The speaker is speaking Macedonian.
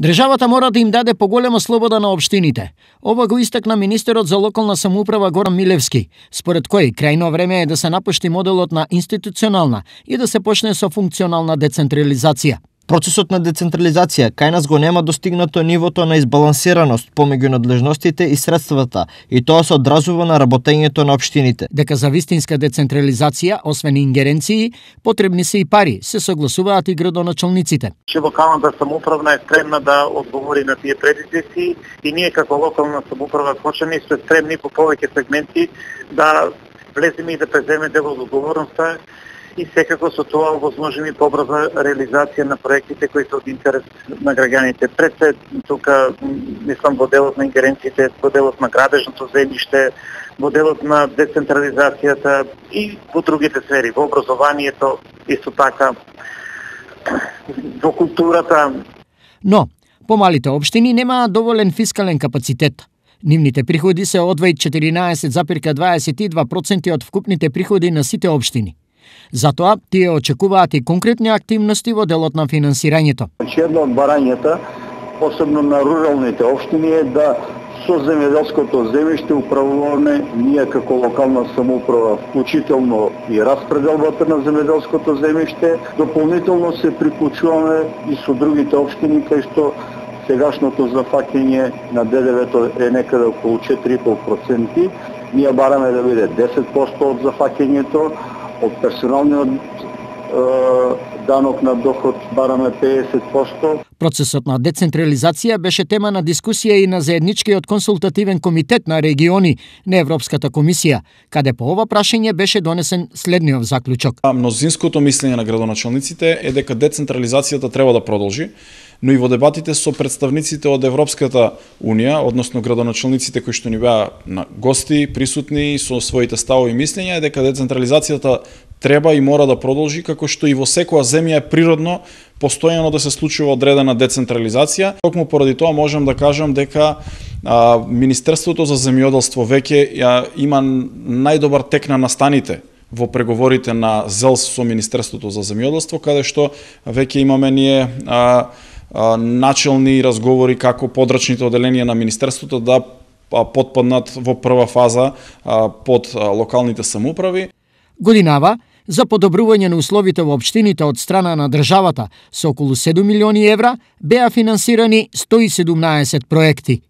Државата мора да им даде поголема слобода на општините. Ова го истакна министерот за локална самоуправа Горан Милевски, според кој крајно време е да се напушти моделот на институционална и да се почне со функционална децентрализација. Процесот на децентрализација кај нас го нема достигнато нивото на избалансираност помеѓу надлежностите и средствата, и тоа се одразува на работењето на општините. Дека за вистинска децентрализација, освен ингеренции, потребни се и пари, се согласуваат и градоначалниците. Че локалната самоуправа е стремна да одговори на тие предизвици и ние како локална самоуправа Кочани сме стремни по повеќе сегменти да влеземе и да преземе дел од одговорноста и секако со тоа овозможиме побрза реализација на проектите кои се од интерес на граѓаните. Пред се тука мислам во делот на ингеренциите, во делот на градежното земјиште, во делот на децентрализацијата и во другите сфери, во образованието, исто така во културата. Но помалите општини немаат доволен фискален капацитет. Нивните приходи се одвај 14,22% од вкупните приходи на сите општини. Затоа тие очекуваат и конкретни активности во делот на финансирањето. Една од барањата, посебно на руралните општини, е да со земјоделското земјиште управуваме ние како локална самоуправа, вклучително и распределбата на земјоделското земјиште. Дополнително се приклучуваме и со другите општини, кај што сегашното зафаќање на ДДВ-то е некаде околу 4,5%. Ние бараме да биде 10% од зафаќањето. Од персоналниот данок на доход бараме 50%. Процесот на децентрализација беше тема на дискусија и на заедничкиот консултативен комитет на региони на Европската комисија, каде по ова прашање беше донесен следниот заклучок. Мнозинското мислење на градоначалниците е дека децентрализацијата треба да продолжи, но и во дебатите со представниците од Европската Унија, односно градоначалниците кои што ни беа на гости, присутни со своите ставови и мислења, е дека децентрализацијата треба и мора да продолжи, како што и во секоја земја е природно постојано да се случува одредена децентрализација. Токму поради тоа можам да кажам дека Министерството за земјоделство веќе има најдобар тек на настаните во преговорите на ЗЕЛС со Министерството за земјоделство, каде што веќе имаме ние начелни разговори како подрачните оделенија на Министерството да потпаднат во прва фаза под локалните самоуправи. Годинава, за подобрување на условите во општините од страна на државата со околу 7 милиони евра беа финансирани 117 проекти.